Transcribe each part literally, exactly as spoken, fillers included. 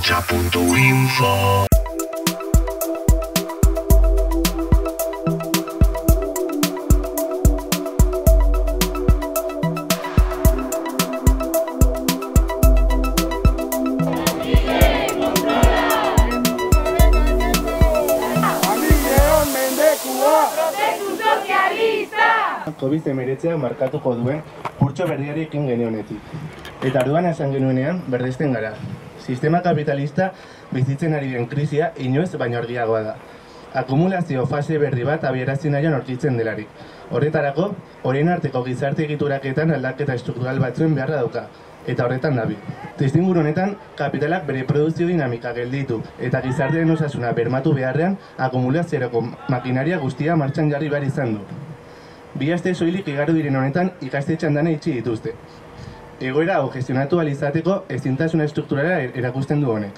ahotsa puntu info. covid hemeretziak markatuko duen kurtso berriari ekin genionetik. Eta arduan esan genuenean berdesten gara. Sistema kapitalista bizitzen ari den krisia inoiz baino argiagoa da. Akumulazio fase berri bat abiarazi nahian aurkitzen delarik. Horretarako, orain arteko gizarte egituraketan aldaketa estruktural batzuen beharra dauka. Eta horretan dabil. Testuinguru honetan, kapitalak bere produzio dinamika gelditu eta gizartearen osasuna bermatu beharrean akumulaziorako makinaria guztia martxan jarri behar izan du. Bi aste soilik igaro diren honetan ikastetxean dana itxi dituzte. Egoera hau gestionatu ahal izateko ezintasuna estrukturala erakusten du honek.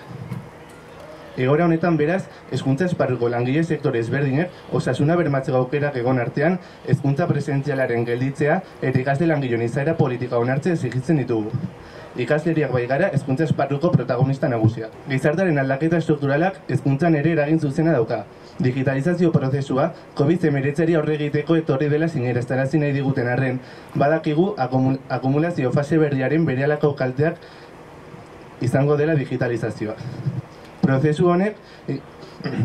Egoera honetan beraz, hezkuntza esparruko langile sektore ezberdinek osasuna bermatzeko aukerak egon artean, hezkuntza presentzialaren gelditzea eta ikasle langileon izaera politika onartzea exijitzen ditugu. Ikasleriak bai gara hezkuntza esparruko protagonista nagusia. Gizartearen aldaketa estrukturalak hezkuntzan ere eragin zuzena dauka. Digitalizazio prozesua covid hemeretziari aurre egiteko etorri dela sinestarazi nahi diguten arren, badakigu akumul akumulazio fase berriaren berehalako kalteak izango dela digitalizazioa. Prozesu honek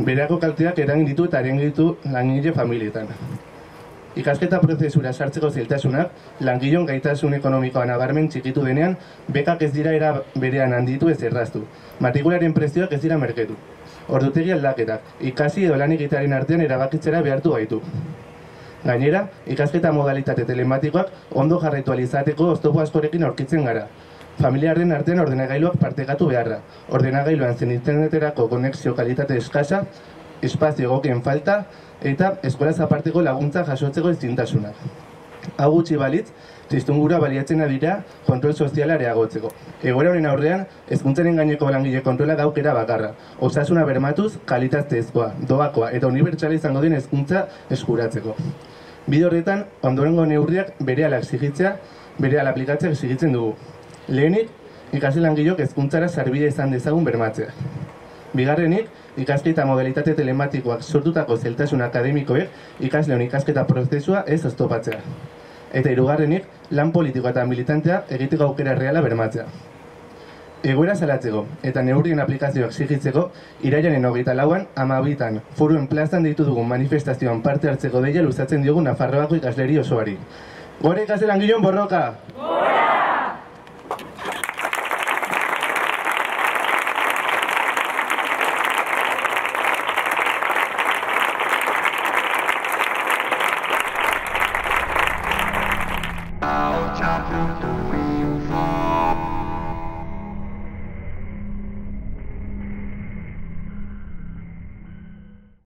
berehalako kalteak eragin ditu eta eragin ditu langile familietan. Ikasketa prozesura sartzeko zailtasunak, langileon gaitasun ekonomikoa nabarmen txikitu denean, bekak ez dira era berean handitu ez erraztu. Matrikularen prezioak ez dira merketu. Ordutegi aldaketak, ikasi edo lan egitearen artean erabakitzera behartu gaitu. Gainera, ikasketa modalitate telematikoak ondo jarraitu ahal izateko oztopo askorekin aurkitzen gara. Familiaren artean ordenagailuak partekatu beharra. Ordenagailuan zen interneterako konexio kalitate eskasa, espazio egokien falta, eta eskolaz aparteko laguntza jasotzeko ezintasunak. Hau gutxi balitz, testuingurua baliatzen dira kontrol soziala areagotzeko. Egoera honen aurrean, hezkuntzaren gaineko langile kontrola gaukera bakarra. Osasuna bermatuz, kalitatezkoa, doakoa eta unibertsala izango den hezkuntza eskuratzeko. Bide horretan, ondorengo neurriak berehala exigitzea, berehala aplikatzea exigitzen dugu. Lehenik, ikasle langileok hezkuntzara sarbide izan dezagun bermatzea. Bigarrenik, ikasketa modalitate telematikoak sortutako zailtasun akademikoek ikasleon ikasketa prozesua ez oztopatzea. Eta hirugarrenik, lan politikoa eta militantea egiteko aukera reala bermatzea. Egoera salatzeko eta neurrien aplikazioak exigitzeko, irailaren hogeita lauan, hamabitan, Foruen plazan deitu dugun manifestazioan parte hartzeko deia luzatzen diogu Nafarroako ikasleri osoari. Gora ikasle langileon borroka! Gora! ahotsa puntu